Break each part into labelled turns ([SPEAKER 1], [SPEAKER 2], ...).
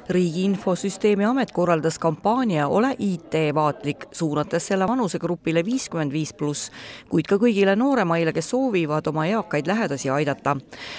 [SPEAKER 1] Riigi Infosüsteemi Amet korraldas kampaania Ole IT-vaatlik, suunates selle vanusegrupile 55+, kuid ka kõigile nooremaile, kes soovivad oma eakaid lähedasi aidata.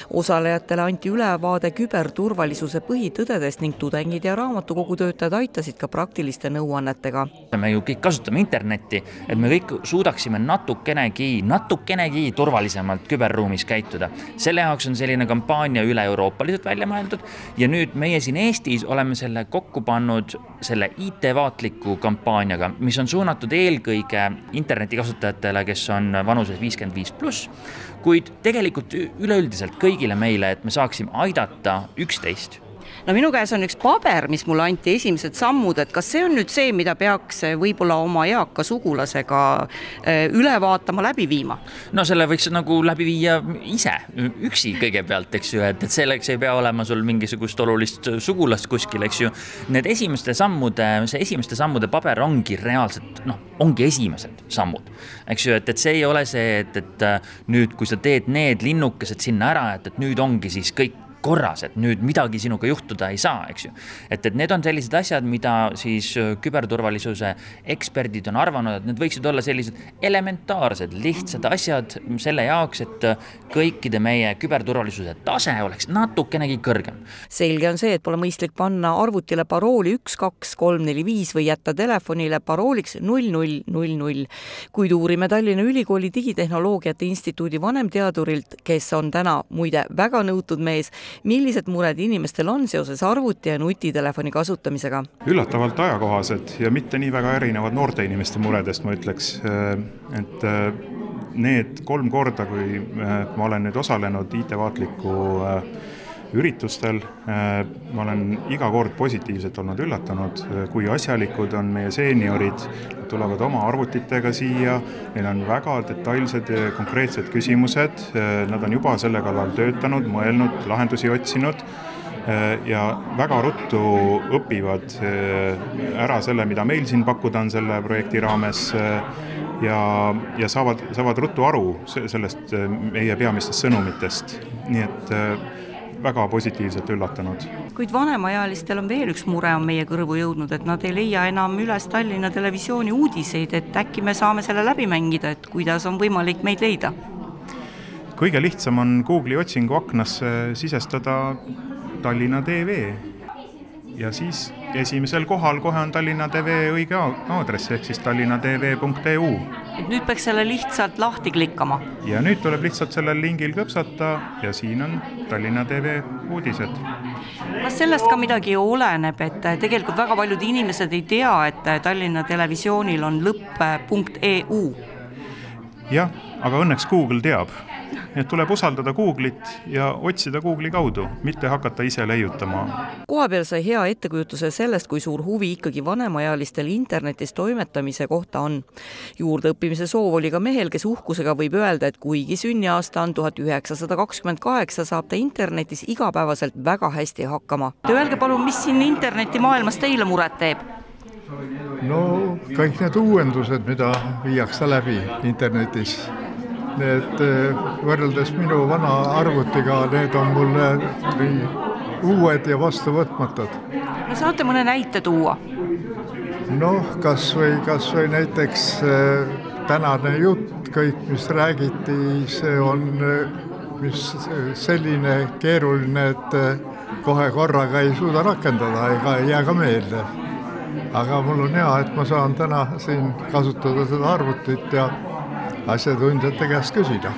[SPEAKER 1] Osalejatele anti ülevaade küberturvalisuse põhitõdedest ning tudengid ja raamatukogutöötajad aitasid ka praktiliste nõuannetega.
[SPEAKER 2] Me ju kõik kasutame internetti, et me kõik suudaksime natukenegi turvalisemalt küberruumis käituda. Selle jaoks on selline kampaania üle euroopaliselt välja mõeldud ja nüüd meie siin Eestis oleme selle kokku pannud selle IT-vaatliku kampaaniaga, mis on suunatud eelkõige internetikasutajatele, kes on vanuses 55+, kuid tegelikult üleüldiselt kõigile meile, et me saaksime aidata üksteist.
[SPEAKER 1] No minu käes on üks paber, mis mulle anti esimesed sammud, et kas see on nüüd see, mida peaks võib-olla oma eaka sugulasega üle vaatama, läbi viima?
[SPEAKER 2] No selle võiks nagu läbi viia ise, üksi kõigepealt, eks ju, et selleks ei pea olema sul mingisugust olulist sugulast kuskil, eks ju. Need esimeste sammude paber ongi reaalselt, ongi esimesed sammud, eks ju, et see ei ole see, et nüüd, kui sa teed need linnukesed sinna ära, et nüüd ongi siis kõik korras, et nüüd midagi sinuga juhtuda ei saa, eks ju. Et need on sellised asjad, mida siis küberturvalisuse eksperdid on arvanud, et need võiksid olla sellised elementaarsed, lihtsad asjad selle jaoks, et kõikide meie küberturvalisuse tase oleks natukenegi kõrgem.
[SPEAKER 1] Selge on see, et pole mõistlik panna arvutile parooli 12345 või jätta telefonile parooliks 0000. Kuid uurime Tallinna Ülikooli digitehnoloogiate instituudi vanemteadurilt, kes on täna muide väga nõutud mees, millised mured inimestel on seoses arvuti ja nutitelefoni kasutamisega?
[SPEAKER 3] Üllatavalt ajakohased ja mitte nii väga erinevad noorte inimeste muredest, ma ütleks, et need 3 korda, kui ma olen nüüd osalenud IT-vaatliku üritustel, ma olen iga kord positiivselt olnud üllatunud, kui asjalikud on meie seeniorid, tulevad oma arvutitega siia, neil on väga detailsed ja konkreetsed küsimused, nad on juba selle kallal töötanud, mõelnud, lahendusi otsinud ja väga ruttu õpivad ära selle, mida meil siin pakkuda on selle projekti raames ja saavad ruttu aru sellest meie peamistest sõnumitest. Nii et väga positiivselt üllatunud.
[SPEAKER 1] Kuid vanemaealistel on veel üks mure on meie kõrvu jõudnud, et nad ei leia enam üles Tallinna Televisiooni uudiseid, et äkki me saame selle läbi mängida, et kuidas on võimalik meid leida?
[SPEAKER 3] Kõige lihtsam on Google'i otsingu aknasse sisestada Tallinna TV ja siis esimesel kohal kohe on Tallinna TV õige aadress, ehk siis tallinnatv.eu.
[SPEAKER 1] Et nüüd peaks selle lihtsalt lahti klikkama.
[SPEAKER 3] Ja nüüd tuleb lihtsalt sellel lingil kõpsata ja siin on Tallinna TV uudised.
[SPEAKER 1] Kas sellest ka midagi oleneb, et tegelikult väga paljud inimesed ei tea, et Tallinna Televisioonil on lõpp.eu?
[SPEAKER 3] Jah, aga õnneks Google teab. Et tuleb usaldada Google'it ja otsida Google'i kaudu, mitte hakata ise leiutama.
[SPEAKER 1] Kohapeal sai hea ettekujutuse sellest, kui suur huvi ikkagi vanemaealistel internetis toimetamise kohta on. Juurde õppimise soov oli ka mehel, kes uhkusega võib öelda, et kuigi sünniaasta on 1928, saab ta internetis igapäevaselt väga hästi hakkama. Öelge palun, mis siin interneti maailmas teile muret teeb?
[SPEAKER 4] No kõik need uuendused, mida viiakse läbi internetis. Need võrreldes minu vana arvutiga, need on mulle uued ja vastuvõtmatud.
[SPEAKER 1] No saate mõne näite tuua?
[SPEAKER 4] Kas või näiteks tänane jutt, kõik mis räägiti, see on selline keeruline, et kohe korraga ei suuda rakendada ega ei jää ka meelde. Aga mul on hea, et ma saan täna siin kasutada seda arvutit ja asjatundjate käest küsida.